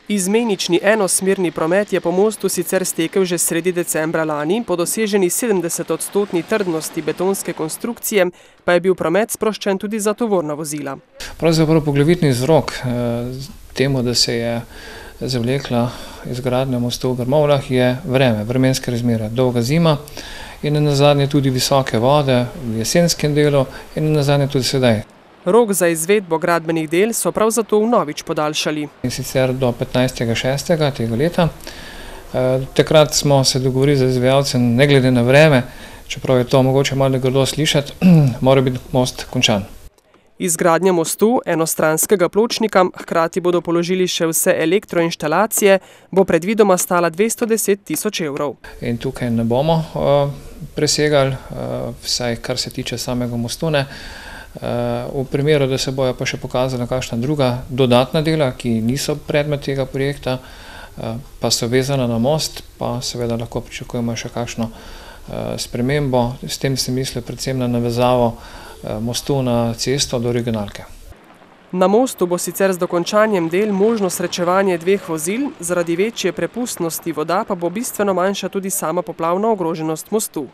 Izmenični enosmerni promet je po mostu sicer stekel že sredi decembra lani, po doseženi 70-odstotni trdnosti betonske konstrukcije pa je bil promet sproščen tudi za tovorna vozila. Pravzaprav poglavitni vzrok temu, da se je zavlekla izgradnja mostu v Grmovljah, je vremenske razmere, dolga zima in nazadnje tudi visoke vode v jesenskem delu in nazadnje tudi sedaj. Rok za izvedbo gradbenih del so prav zato vnovič podaljšali. In sicer do 15.6. tega leta. Takrat smo se dogovorili z izvajalcem, ne glede na vreme, čeprav je to mogoče malo grdo slišati, mora biti most končan. Izgradnja mostu, enostranskega pločnika, hkrati bodo položili še vse elektroinštalacije, bo predvidoma stala 210 000 evrov. In tukaj ne bomo presegali, vsaj kar se tiče samega mostu ne. V primeru, da se bojo pa še pokazala kakšna druga dodatna dela, ki niso predmet tega projekta, pa so vezana na most, pa seveda lahko pričakujemo še kakšno spremembo. S tem se misli predvsem na navezavo mostu na cesto do regionalke. Na mostu bo sicer z dokončanjem del možno srečevanje dveh vozil, zaradi večje prepustnosti voda pa bo bistveno manjša tudi sama poplavna ogroženost mostu.